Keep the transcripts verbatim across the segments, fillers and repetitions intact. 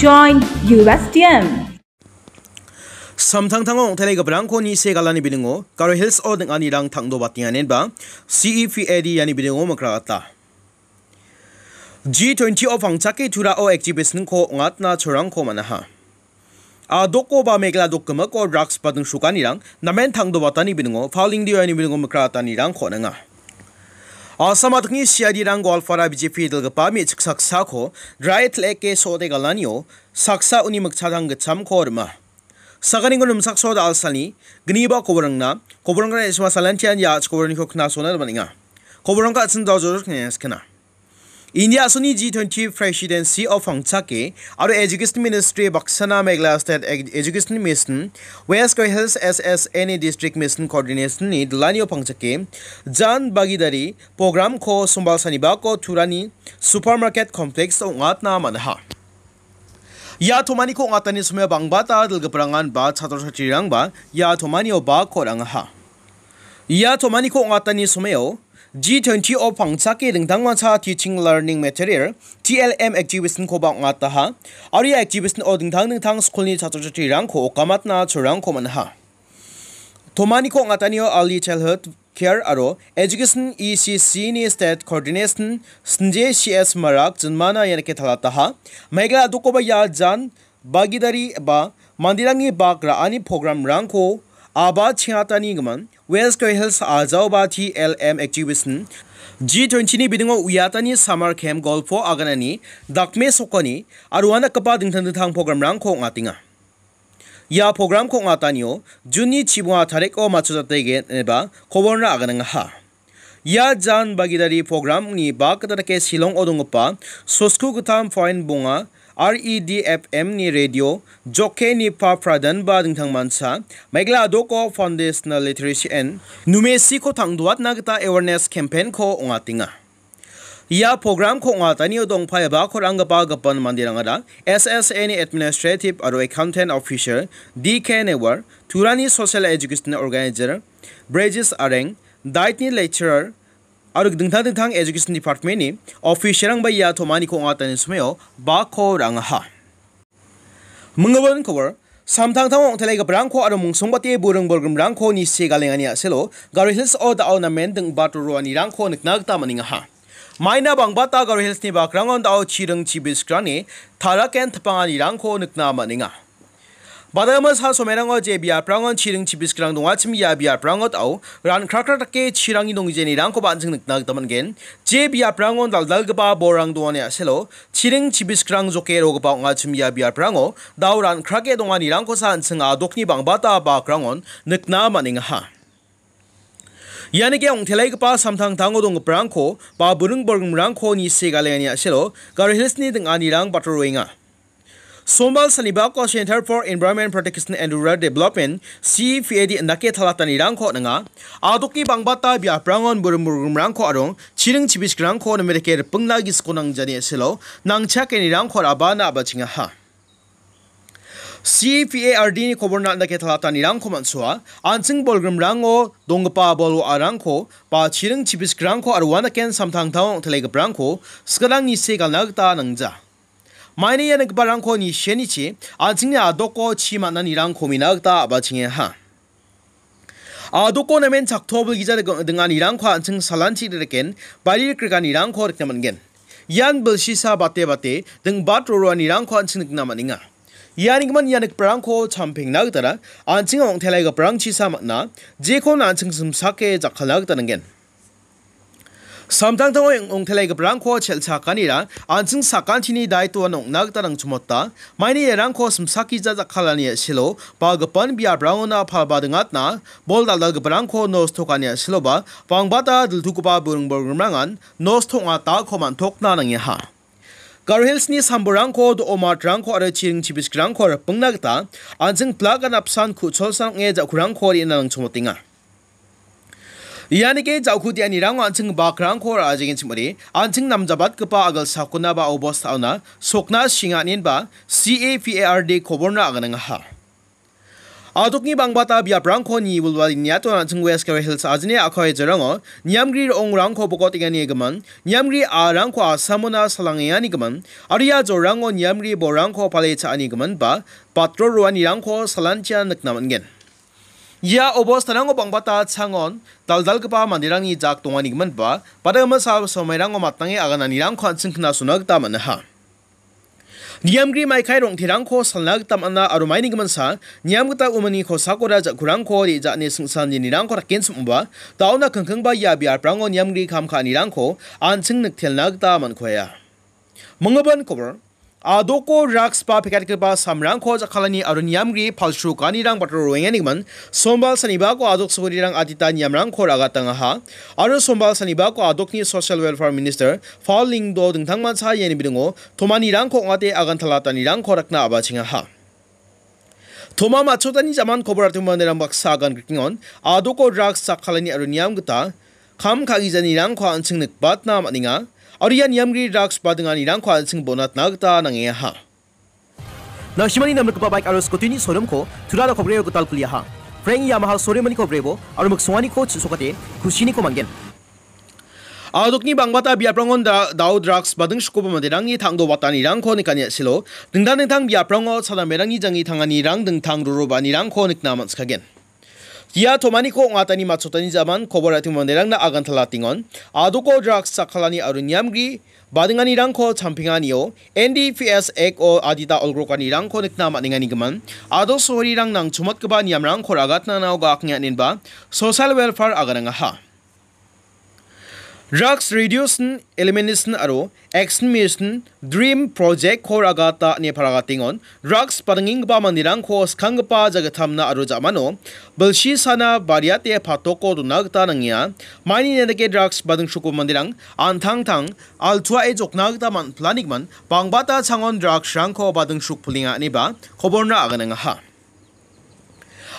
Join U S T M. Samtangtango ong·tele giparangko nise galani biningo Garo Hills-o ding·anirang tangdobatenganenba C E P A D iani biningo mikragata. G twenty-o pangchake Turao exhibition-ko ong·atna cholrangko man·aha. Adoko ba Meghalaya dokgimiko drugs ba dingsukanirang namen tangdobatani biningo, Falingdiani biningo mikratanirangko on·enga. Asam adikni C I D-rang Goalpara B J P dilgipa me·chik saksako drai til·eke so·ode galanio saksa uni mikchadang gitchamko rima. Saganinggo nimsakso da alsani gniba koborangna, koborangna isma salantian ya ach koborangko knasona man·enga. Koborangka atsin dojor kena. India asoni G twenty Presidency of Pangchake aro Education Ministry baksana Meghalaya State Ed-, Education Mission, West Garo Hills S S N A District Mission Coordination-ni dilanio pangchake Jan Bhagidari program-ko sombal sanibako Turani Supermarket Complex ong·atna man·aha. Ia tomaniko ong·atani somoio bangbata dilgiprangan ba chatro chatrirangba ia tomanio bakko ra·angaha. Ia tomaniko ong·atani somoio G twenty-o pangchake dingtangmancha teaching learning material, T L M exhibition-koba ong·ataha. Aro ia exhibition-o dingtang dingtang skulni chatro chatrirangko okamatna cholrangko man·aha. Tomaniko ong·atanio Early Childhood Care aro Education E C C-ni State Coordination Sanjay C S Marak jinmana ia dake talataha. Meghalaya dokoba ia Jan Bhagidari ba manderangni bak ra·ani program-rangko aba chengatani gimin West Garo Hills ajaoba T L M exhibition G twenty-ni biningo uiatani summer camp golpo aganani dakmesokani aro uanakgipa dingtang dingtang program-rangko ong·atenga. Ia program-ko ong·atanio June-ni chibonga tariko matchotjategen ineba koborna aganangaha. Ia Jan Bhagidari program-ni bak gita dake Shillong-o donggipa sosku gittam point bonga R E D F M-ni radio jockey-ni pa Pradhan ba dingtangmancha Meghalaya Adoko Foundational Literacy and Numeracy-ko tangdoatna gita awareness campaign-ko ong·atenga. Ia program-ko ong·atanio dongpaiba koranggipa gipin manderangara S S A-ni Administrative aro Accountant Officer D K Newar, Turani Social Education Organizer Brejis Areng, Daitni Lecturer, aro dingtang dingtang Education Department-ni officer-rangba ia tomaniko ong·atani somoio bakko ra·angaha. Minggimin kobor, samtangtango ong·tele giparangko aro mungsongbate buring bolgrimrangko nise galengani a·selo, Garo Hills-o da·o namen ding·bat roroanirangko nikna gita man·engaha. Maina bangbata Garo Hills-ni bakrangon da·o chiring chibiskrangni taraken tipanganirangko nikna man·enga. Badama sa somerango je biaprangon chiring chibiskrang dongachim ia biaprango da·o ran·krakra dake chirangni donggenirangkoba an·ching nikna gita man·gen. Je biaprangon dal·dalgipa bolrang dongani a·selo, chiring chibiskrang joke rogipa ong·achim ia biaprango da·o ran·krake donganirangkosa an·ching a·dokni bangbata bakrangon nikna man·engaha. Ianike ong·teleigipa samtangtango donggiparangko ba buring bolgrimrangko nise galengani a·selo Garo Hills-ni ding·anirang batoroenga. Sombal sanibako Center for Environment Protection and Rural Development, C E P A D indake talatanirangko on·enga. A·dokni bangbata biaprangon buring bolgrimrangko aro chiring chibiskrangko namerike ripingna gisiko nangjani a·selo nangchakenirangko rabana a·bachengaha. C E P A R D-ni koborna indake talatanirangko man·soa, an·ching bolgrimrango donggipa bol wa·arangko ba chiring chibiskrangko aro uanaken samtangtango ong·teleigiparangko sigarang nise galna gita nangja. Maina ia nikgiparangko nisianichi an·chingni a·doko chi man·anirangko mina gita a·bachengaha. A·doko namen chaktobilgija ding-, ding·anirangko an·ching salanchi riken, bari rikrikanirangko rikna man·gen. Ian bilsisa bate bate ding·bat roroanirangko an·ching nikna man·enga. Ianigimin ia nikgiparangko champengna gitara an·ching ong·teleigiparangchisa man·a, jekon an·ching simsake jakkalna gita nanggen. Samtangtango ong-, ong·teleigiparangko chelchakanira an·ching sakantini daitoan ong·na gita nangchimota. Maina iarangko simsakija jakkalani a·selo ba gipin biaprangona palba ding·atna bol dal·dalgiparangko nosto ka·ani a·seloba bangbata diltugipa buring bolgrimrangan nosto ong·atako man·tokna nangenga. Garo Hills-ni sambolrangko, do·omatrangko aro chiring chibiskrangko ripingna gita an·ching plagan apsan ku·cholsan ong·e ja·kurangko re·na nangchimotenga. Ianike ja·ku de·anirango an·ching bakrangko ra·ajengenchim ong·ode, an·ching namjabatgipa agilsakona ba obostaona sokna shinga inenba C A P A R D koborna aganangaha. A·dokni bangbata biaprangko niwilwal niato an·ching West Garo Hills ajine a·koi jerango niamgri ro·ongrangko bokotenganigimin, niamgri a·rangko Assamona salangenganigimin, aro ia jorango niamgri borangko pale cha·anigimin ba patro roanirangko salantian nikna man·gen. Ia obostarango bangbata changon dal·dalgipa manderangni jak donganigimin ba, bada·gimsa somairango matnange agananirangko an·ching knasona gita man·aha. Niamgri maikai rong·terangko salna gita man·a aro maini giminsa niam gita umani kosakora ja·kurangko re·ja·ani singsan nirangko rakenchim ong·ba, da·ona kingkingba ia biaprango niamgri kam ka·anirangko an·ching niktelna gita man·kuaia. Minggipan kobor, a·doko drugs ba pekatgipa samrangko jakkalani aro niamgri palsu ka·anirang batro roenganigimin, sombal sanibako a·dok sogirirang adita niamrangko ragatangaha, aro sombal sanibako a·dokni Social Welfare Minister Paul Lyngdoh dingtangmancha iani bidingo tomanirangko ong·ate agantalatanirangko rakna a·bachengaha. Toma matchotani jaman kobor atim manderang baksa agan grikingon, a·doko drugs jakkalani aro niam gita kam ka·gijanirangko an·ching nikbatna man·enga, aro ia niamgri drugs badinganirangko an·ching bonatna gita nangengaha. Nangsimani namrikgipa baik aro scooty-ni showroom-ko Turara kobreo gital kuliaha. Frank Yamaha showroom-ani kobrebo aro miksonganiko chisokate kusiniko man·gen. A·dokni bangbata biaprangon da-, dao drugs badingsukoba manderangni tangdo watanirangko nikani a·selo, dingtang dingtang biaprango chadamerangni jangi tanganirang dingtang rorobaanirangko nikna man·sikagen. Ia tomaniko ong·atani matchotani jaman kobor atim manderangna agantalatengon, a·doko drugs jakkalani aro niamgri badinganirangko champenganio N D P S Act-o adita olgrokanirangko nikna man·enganigimin, a·dok sogirirang nangchomatgipa niamrangko ragatna nao gaknge aninba social welfare aganangaha. Drugs Reduction, Elimination aro Extinction Dream Project-ko ragata ine paragatengon, drugs badingenggipa manderangko skanggipa jagittamna aro ja·mano bilsisana bariate patoko dona gita nangenga. Maini neng·dake drugs badingsuko manderang an·tangtang altuae jokna gita man-, planigimin bangbata changon drugs-rangko badingsuk pulenga ineba koborna aganangaha.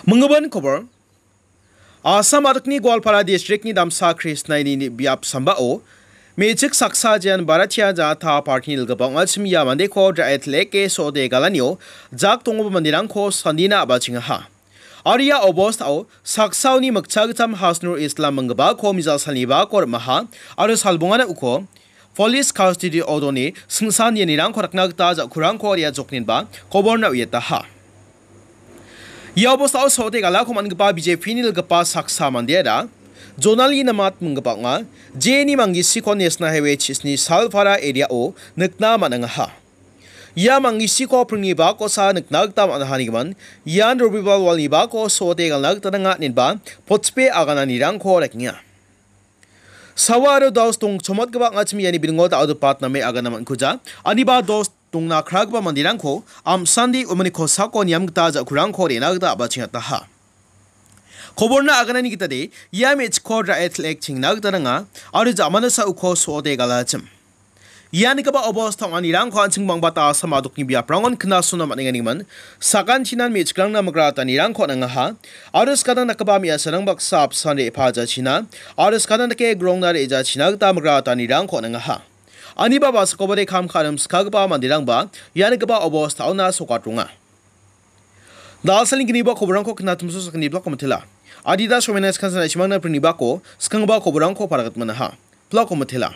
Minggipan kobor, Assam a·dokni Goalpara district-ni damsa Krisnaini biap sambao me·chik saksa jean Bharatiya Janata Party-ni dilgipa ong·achim ia mandeko dra·e til·eke so·ode galanio jak donggipa manderangko sandina a·bachengaha. Aro ia obostao saksaoni mikcha gittam Hasnur Islam minggipako mijal salnibako rim·aha aro salbongana uko Police custody-o done singsan ianirangko rakna gita ja·kurangko re·a jokninba koborna uiataha. Ia obostao so·ode galako man·gipa B J P-ni dilgipa saksa mandeara Jonali Namat minggipa ong·a, jeni manggisiko National Highway chisni Salpara area-o nikna man·angaha. Ia manggisiko pringni bakosa nikna gita man·aha nigimin, ian Robibar walni bako so·ode galna gita nanga inenba potspe agananirangko rekenga. Sawa aro dos dongchomotgipa ong·achim iani biringo da·odepat name agana man·kuja. Aniba dos dongna kragipa manderangko amsande umani kosako niam gita ja·kurangko re·na gita a·bachengataha. Koborna aganani gitade ia me·chikko ra·e til·ek chengna gita nanga aro ja·manasa uko so·ode galachim. Ia nigipa obostao ong·anirangko an·ching bangbata Assam a·dokni biaprangon knasona man·enganigimin, sakantinan me·chikrangna migratanirangko on·angaha, aro skadang dakgipa me·asarang baksa apsan re·pajachina, aro skadang dake grongna re·jachina gita migratanirangko on·angaha. Aniba baskobade kam ka·rim skagipa manderangba ia nigipa obostaona sokatronga. Dalsalni gniba koborangko knatimso sakgni blako mitela. Adida somena skansan aishimangna prinibako skanggipa koborangko paragatmanaha. Blako mitela.